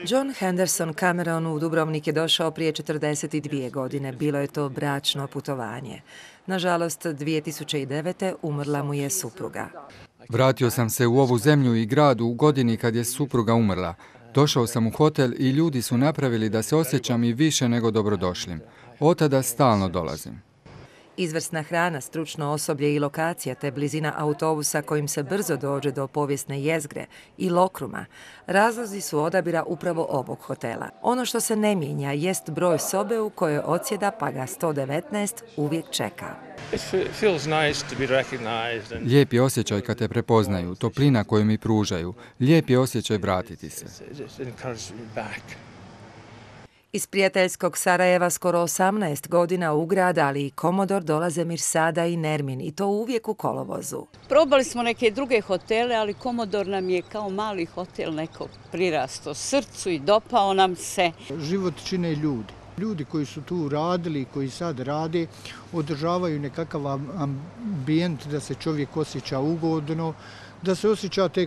John Henderson Cameron u Dubrovnik je došao prije 42 godine. Bilo je to bračno putovanje. Nažalost, 2009. umrla mu je supruga. Vratio sam se u ovu zemlju i grad u godini kad je supruga umrla. Došao sam u hotel i ljudi su napravili da se osjećam i više nego dobrodošlim. Od tada stalno dolazim. Izvrsna hrana, stručno osoblje i lokacija te blizina autobusa kojim se brzo dođe do povijesne jezgre i Lokruma razlozi su odabira upravo ovog hotela. Ono što se ne mijenja jest broj sobe u kojoj odsjeda, pa ga 119 uvijek čeka. Lijep je osjećaj kad te prepoznaju, toplina koju mi pružaju. Lijep je osjećaj vratiti se. Iz prijateljskog Sarajeva skoro 18 godina u grad, ali i Komodor dolaze Mirsada i Nermin, i to uvijek u kolovozu. Probali smo neke druge hotele, ali Komodor nam je kao mali hotel nekog prirasto srcu i dopao nam se. Život čine ljudi. Ljudi koji su tu radili i koji sad rade održavaju nekakav ambijent da se čovjek osjeća ugodno, da se osjećate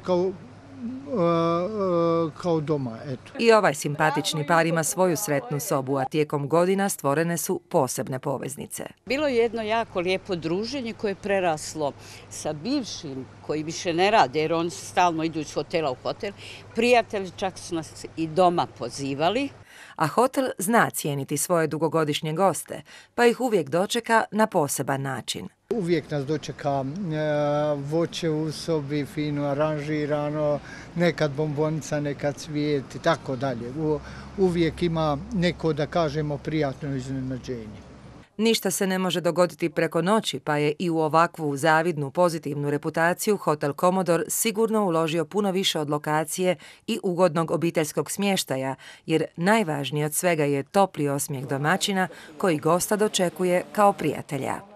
kao doma. Eto. I ovaj simpatični par ima svoju sretnu sobu, a tijekom godina stvorene su posebne poveznice. Bilo je jedno jako lijepo druženje koje je preraslo sa bivšim koji više ne rade, jer oni stalno idu iz hotela u hotel. Prijatelji čak su nas i doma pozivali. A hotel zna cijeniti svoje dugogodišnje goste, pa ih uvijek dočeka na poseban način. Uvijek nas dočeka voće u sobi, fino aranžirano, nekad bombonica, nekad cvijet i tako dalje. Uvijek ima neko, da kažemo, prijatno iznenađenje. Ništa se ne može dogoditi preko noći, pa je i u ovakvu zavidnu pozitivnu reputaciju Hotel Komodor sigurno uložio puno više od lokacije i ugodnog obiteljskog smještaja, jer najvažnije od svega je topli osmijeh domaćina koji gosta dočekuje kao prijatelja.